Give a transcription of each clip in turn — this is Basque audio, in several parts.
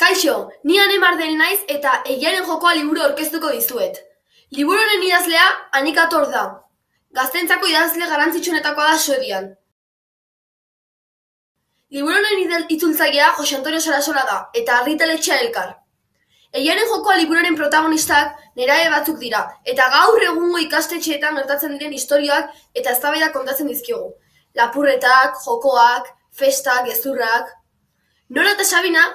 Kaixo, ni Ane Mardel naiz eta Egiaren jokoa liburu aurkeztuko dizuet. Liburu honen idazlea Anika Tor da. Gazteentzako idazle garrantzitsuenetakoa da Suedian. Liburu honen itzultzailea Jose Antonio Sarasola da eta argitaletxea Elkar. Egiaren jokoa liburuaren protagonistak nerabe batzuk dira eta gaur egungo ikastetxeetan gertatzen diren istorioak eta eztabaidak kontatzen dizkigu. Lapurretak, jokoak, festak, gezurrak. Nora eta Sabina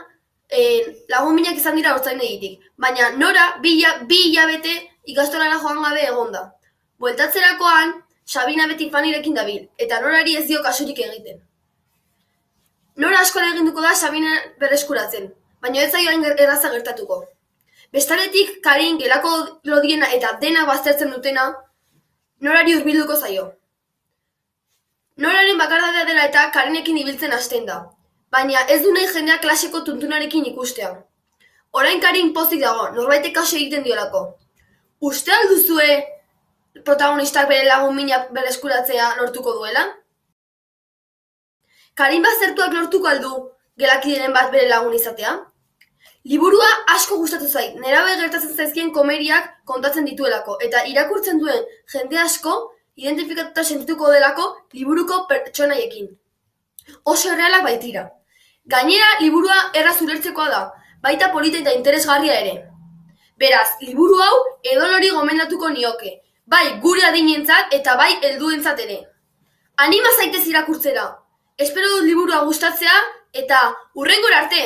lagun minak izan dira haurtzaindegitik, baina Nora bi hilabete ikastolara joan gabe egon da. Bueltatzerakoan, Sabina beti Fanirekin dabil, eta Norari ez dio kasurik egiten. Nora asko eginduko da Sabina berreskuratzen, baina ez zaio hain erraza gertatuko. Bestaletik, Karin, gelako lodiena eta dena baztertzen dutena, Norari hurbilduko zaio. Noraren bakardadea dela eta Karinekin ibiltzen hasten da. Baina ez du nahi jendea klaseko tuntunarekin ikustea. Orain Karin pozik dago, norbaitek kasu egiten diolako. Uste alduzue protagonistak bere lagun minak berreskuratzea lortuko duela? Karin baztertuak lortuko aldu gelakideren bat bere lagun izatea? Liburua asko gustatu zait, nerabe gertatzen zaizkien komeriak kontatzen dituelako, eta irakurtzen duen jende asko identifikatuta sentituko delako liburuko pertsonaiekin. Oso errealak baitira. Gainera, liburua erraz ulertzekoa da, baita polita eta interesgarria ere. Beraz, liburu hau edonori gomendatuko nioke, bai gure adinentzat eta bai helduentzat ere. Anima zaitez irakurtzera. Espero dut liburua gustatzea eta hurrengora arte!